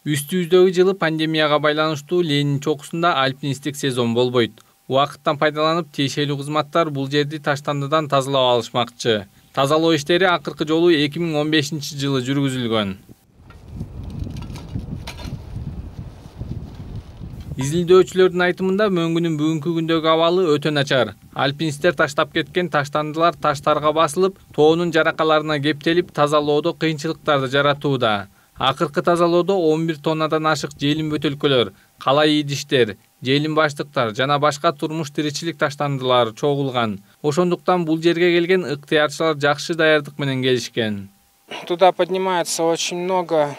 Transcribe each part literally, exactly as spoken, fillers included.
Үстүбүздөгү жылы пандемияга байланыштуу Ленин чокусунда альпинисттик сезон болбойт. Убакыттан пайдаланып, тиешелүү кызматтар бул жерди таштандыдан тазалап алышмакчы. Тазалоо иштери акыркы жолу эки миң он бешинчи жылы жүргүзүлгөн. Изилдөөчүлөрдүн айтымында мөңгүнүн бүгүнкү күндөгү абалы өтө начар. Альпинисттер таштап кеткен таштандылар таштарга басылып, тоонун жаракаларына кептелип, тазалоодо кыйынчылыктарды жаратууда. Акыркы тазалоодо он бир тоннадан ашык желим бөтөлкөлөр, кала идиштер, желим баштыктар жана башка турмуш тиричилик таштандылары чогулган. Ошондуктан бул жерге келген ыктыярчылар жакшы даярдык менен келишкен. Туда поднимается очень много.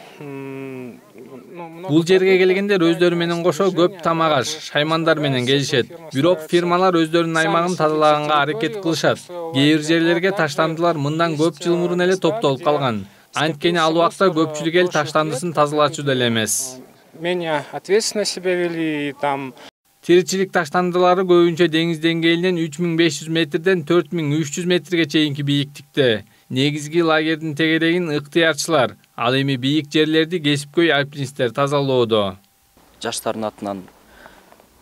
Бул жерге келгендер өздөрү менен кошо көп тамак аш, шаймандар менен келишет. Бирок фирмалар өздөрүнүн аймагын тазалаганга аракет кылышат. Кээ бир жерлерге таштандылар мындан көп жыл мурун эле топтолуп калган. Анткени ал убакта көпчүлүк эл таштандысын тазалачу деле эмес. Менее ответственно себя вели там. Тиричилик таштандылары көбүнчө деңиз деңгээлинен үч миң беш жүз метрден төрт миң үч жүз метрге чейинки бийиктикте. Негизги лагердин тегерегин ыктыярчылар, ал эми бийик жерлерди кесипкөй альпинисттер тазалоодо. Жаштардын атынан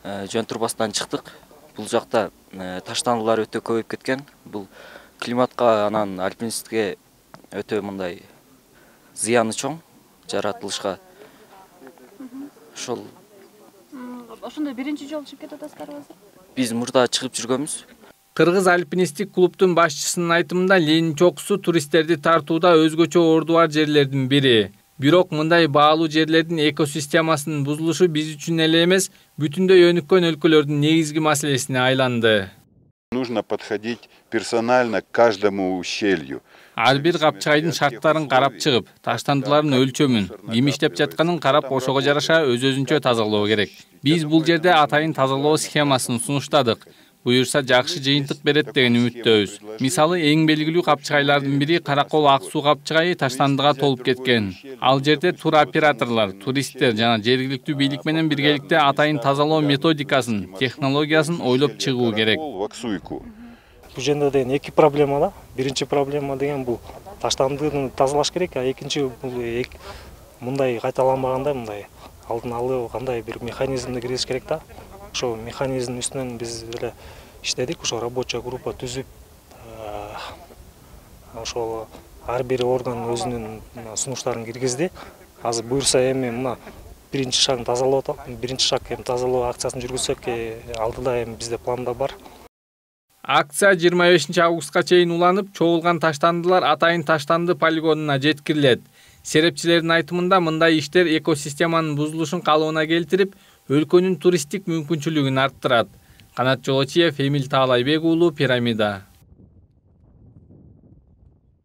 жөн турбастан чыктык. Бул жакта таштандылар өтө көбөйүп кеткен. Бул климатка анан альпинистке өтө мындай зыяны чоң жаратылышка. Ошол ошондой биринчи жолу чыгып кетип атасыздарбы азыр? Биз мурда чыгып жүргөнбүз. Кыргыз альпинисттик клубдун башчысынын айтымында Ленин чокусу туристтерди тартууда өзгөчө орду бар жерлердин бири. Бирок мындай баалуу жерлердин экосистемасынын бузулушу биз үчүн эле эмес, бүтүндөй өнүккөн өлкөлөрдүн негизги маселесине айланды. Нужно подходить персонально к каждому ущелью. Ар бир капчыгайдын шарттарын карап чыгып, таштандылардын өлчөмүн, ким иштеп жатканын карап, ошого жараша өз-өзүнчө тазалоо керек. Биз бул жерде атайын тазалоо схемасын сунуштадык. Буюрса жакшы жыйынтык берет деген үмүттөбүз. Мисалы, эң белгилүү капчыгайлардын бири Каракол ак суу капчыгайы таштандыга толуп кеткен. Ал жерде туроператорлор, туристтер жана жергиликтүү бийлик менен биргеликте атайын тазалоо методикасын, технологиясын ойлоп чыгуу керек. Бул жерде деген эки проблема да. Биринчи проблема деген бул таштандыны тазалаш керек, а экинчи бул мындай кайталанбагандай, мындай алдын алып кандай бир механизмди киргизиш керек да. Ошо механизмдин үстүнөн биз эле иштедик, ошо рабочая группа түзүп, ошол ар бир орган өзүнүн сунуштарын киргизди. Азыр буюрса эми мына биринчи шагын тазалоо, биринчи шаг эми тазалоо акциясын жүргүзсөк, алдыда эми бизде планда бар. Акция жыйырма бешинчи августка чейин уланып, чогулган таштандылар атайын таштанды полигонуна жеткирилет. Серепчилердин айтымында мындай иштер экосистеманын бузулушун калыбына келтирип, өлкөнүн туристтик мүмкүнчүлүгүн арттырат. Канат Жолочиев, Эмил Таалайбек уулу, Пирамида.